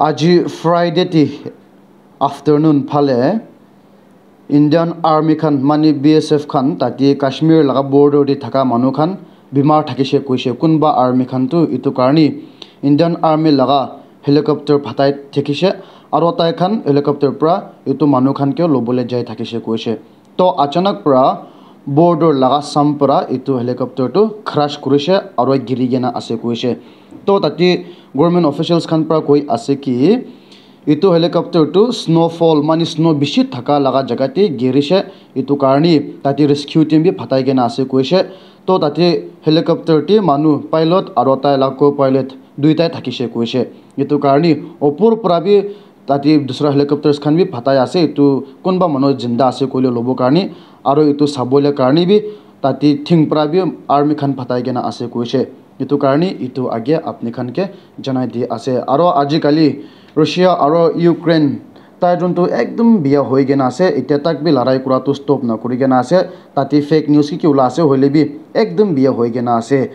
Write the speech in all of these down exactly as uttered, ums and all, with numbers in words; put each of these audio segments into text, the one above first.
Aji Friday te afternoon phale Indian Army khan mane B S F khan tate Kashmir laga border te thaka manu khan bimar thakishe koishe. Kunba army khan tu etu karne Indian Army laga helicopter phatai thakishe aro tai khan helicopter pra etu manu khan ke lobole jai thakishe koishe. To achanak pra border laga sam pra etu helicopter tu crash kurishe aro giri kena ase koishe. To tate government officials khan pra koi ase ki etu helicopter tu snowfall mane snow bishi thaka laga jaga te girishe, etu karne tate rescue team bi phatai kena ase koishe. To tate helicopter te manu pilot aro tai la co-pilot duitai thakishe koishe. Etu karne opor pra bi tate dusra helicopters khan bi phatai ase, etu kunba manu jinda ase koile lobo karne aro etu sabole karne bi tate thing pra bi army khan phatai kena ase koishe. Etu karne etu age apni khan ke janai di ase. Aro ajikali Russia aro Ukraine tai jun tu ekdum biya hoi kena ase. Etia tak bi larai kura tu stop na kuri kena ase. Tate fake news ki ki ula ase hoile bi ekdum biya hoi kena ase.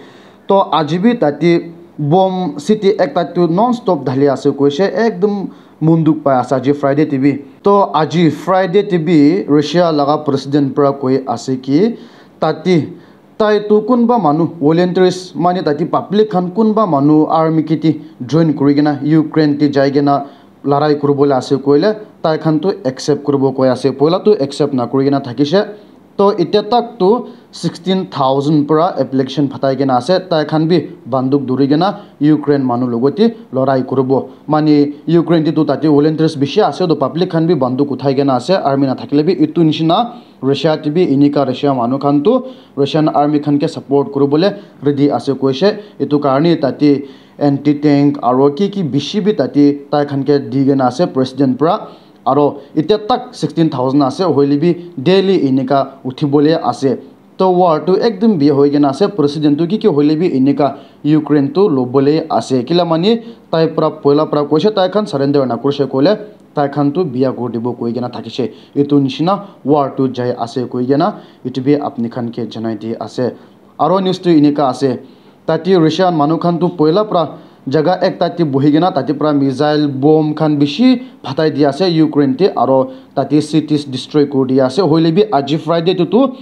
To aji bi tate bomb city ekta tu non stop dhali ase koishe. Ekdum munduk pai ase aji Friday te bi. To aji Friday te bi Russia laga president pra koi ase ki tate tai tu kunba manu volunteers mane tate public khan kunba manu army kiti join kuri kena Ukraine te jai kena larai kuribole ase koile tai khan tu accept kuribo koi ase. Poila tu accept na kuri kena thakishe. To etia tak tu sixteen thousand pra application phatai kena ase. Tai khan bi banduk duri kena Ukraine manu logote lorai kuribo. Mane Ukraine te tu tate volunteers bishi ase, to public khan bi banduk uthai kena ase, army na thakile bi. Etu nishina Russia te bi enika Russia manu khan tu Russian army khan ke support kuribole ready ase koishe. Etu karne tate anti tank aro ki ki bishi bi tate tai khan ke di kena ase president pra. Aro etia tak sixteen thousand ase, hoile bi daily enika uthibole ase. To war tu ekdum biya hoi kena ase, president tu ki ki hoile bi enika Ukraine tu lobole ase. Kila mane tai pra poila pra koishe tai khan surrender na kurishe koile tai khan tu biya kuri dibo koi kena thakishe. Etu nishina war tu jai ase koi kena etu bi apni khan ke janai di ase. Aro news tu enika ase. Tate Russian manu khan tu poila pra jaga ekta te bohi kena tate pra missile bomb khan bishi phatai di ase Ukraine te, aro tate cities destroy kuri di ase. Hoile bi aji Friday tu tu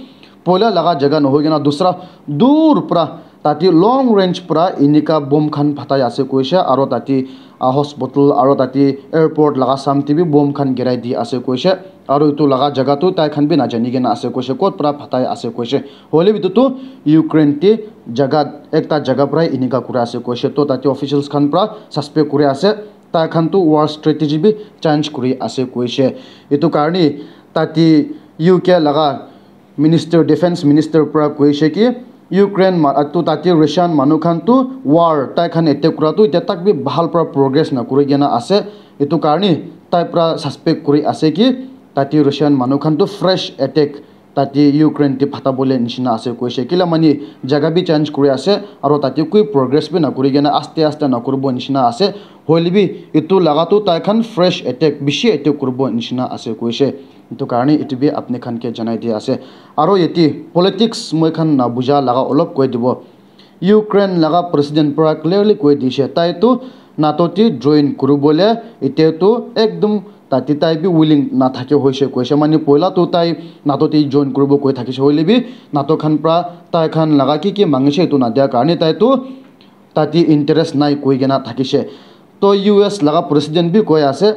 poila laga jaga nohoi kena dusra dur pra tate long range pra enika bomb khan phatai ase koishe, aro tate ah, hospital aro tate airport laga sam te bi bomb khan girai di ase koishe. Aro etu laga jaga tu tai khan bi najani kena ase koishe, kot pra phatai ase koishe. Hoile bi etu tu Ukraine te jaga ekta jaga pra enika kura ase koishe. To tate officials khan pra suspect kuri ase, tai khan tu war strategy bi change kuri ase koishe. Etu karne tate U K laga minister, defense minister pra koishe ki Ukraine ma atu tate Russian manu khan tu war tai khan attack kura tu etia tak bi bhal pra progress na kuri kena ase. Etu karne tai pra suspect kuri ase ki tate Russian manu khan tu fresh attack tate Ukraine te phatabole nishina ase koishe. Kila mane jaga bi change kuri ase aro tate koi progress bi na kuri kena aste aste na kuribo nishina ase. Hoile bi etu laga tu tai khan fresh attack, bishi attack kuribo nishina ase koishe. Etu karne etu bi apni khan ke janai di ase. Aro yate politics moi khan na buja laga olop koi dibo. Ukraine laga president pra clearly koi dishe, tai tu NATO te join kuribole ete tu ekdum tate tai bi willing na thake hoishe koishe. Mane poila tu tai NATO te join kuribo koi thakishe, hoile bi NATO khan pra tai khan laga ki ki mangishe etu na dia karne tai tu tate interest nai koi kena thakishe. To U S laga president bi koi ase,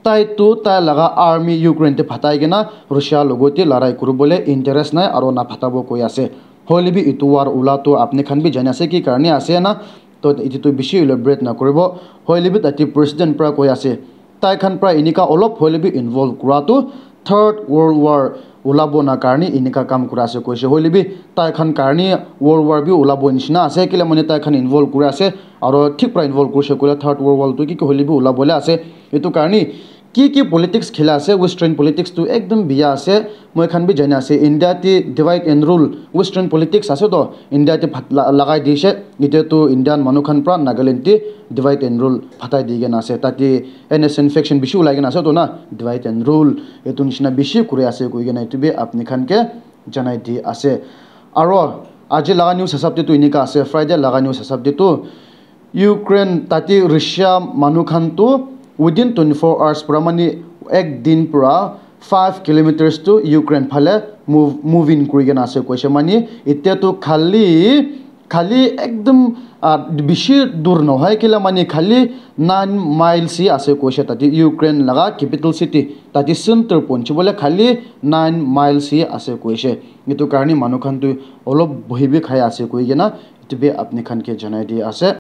tai tu tai laga army Ukraine te phatai kena Russia logote larai kuribole interest nai aro na phatabo koi ase. Hoile bi etu war ula tu apni khan bi jani ase ki karne ase na, to etu tu bishi elaborate na kuribo. Hoile bi tate president pra koi ase, tai khan pra enika olop hoile bi involve kura tu third world war ulabo na karne enika kam kura ase koishe. Hoile bi tai khan karne world war bi ulabo nishina ase, kila mane tai khan involve kuri ase, aro thik pra involve kurishe koile third world war tu ki ki hoile bi ulabole ase. Etu karne ki ki politics khela ase, western politics tu ekdum biya ase. Moi khan bi jani ase India te divide and rule, western politics ase to India te phat la- lagai dishe. Ete tu Indian manu khan pra Nagaland te divide and rule phatai di kena ase. Tate N S N faction bishi ulai kena ase to na, divide and rule etu nishina bishi kuri ase koi kena etu bi apni khan ke janai di ase. Aro aji laga news hisab te tu enika ase, Friday laga news hisab te tu Ukraine tate Russia manu khan tu within twenty-four hours pura mani ek din pura five kilometers tu Ukraine phale move, move in kuri kena ase koise mani. Etia tu khali khali ekdom ah, bishi dur nohoi kila mani khali nine miles hi ase koise tate Ukraine laga capital city tate center ponchi bole khali nine miles hi ase koise. Etu karne manu khan tu olop bohi bi khai ase koi kena etu bi apni khan ke janai di ase.